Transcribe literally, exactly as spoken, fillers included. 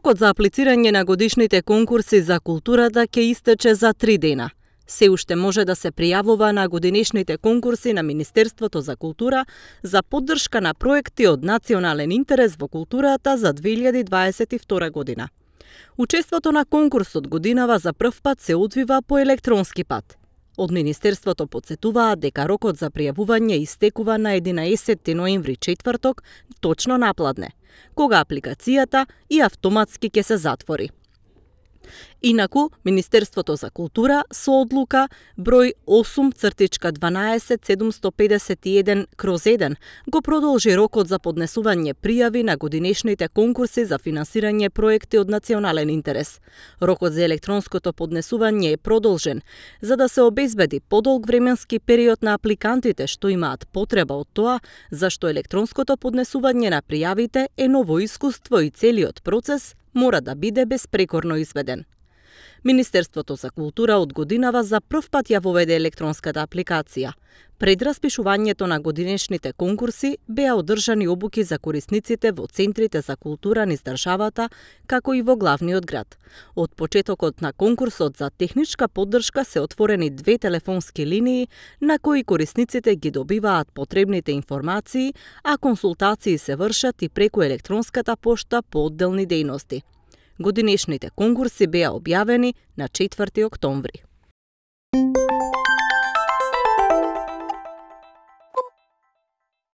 Рокот за аплицирање на годишните конкурси за културата ќе истече за три дена. Се уште може да се пријавува на годинешните конкурси на Министерството за култура за поддршка на проекти од национален интерес во културата за две илјади дваесет и втора година. Учеството на конкурсот годинава за прв пат се одвива по електронски пат. Од Министерството потсетуваат дека рокот за пријавување истекува на единаесетти ноември, четврток, точно напладне, кога апликацијата и автоматски ќе се затвори. Инаку, Министерството за култура со одлука број осум дванаесет седумсто педесет и еден кроз еден го продолжи рокот за поднесување пријави на годинешните конкурси за финансирање проекти од национален интерес. Рокот за електронското поднесување е продолжен за да се обезбеди подолг временски период на апликантите што имаат потреба од тоа, зашто електронското поднесување на пријавите е ново искуство и целиот процес мора да биде безпрекорно изведен. Министерството за култура од годинава за прв пат ја воведе електронската апликација. Пред распишувањето на годинешните конкурси беа одржани обуки за корисниците во центрите за култура низ државата, како и во главниот град. Од почетокот на конкурсот за техничка поддршка се отворени две телефонски линии на кои корисниците ги добиваат потребните информации, а консултации се вршат и преку електронската пошта по одделни дејности. Годинешните конкурси беа објавени на четврти октомври.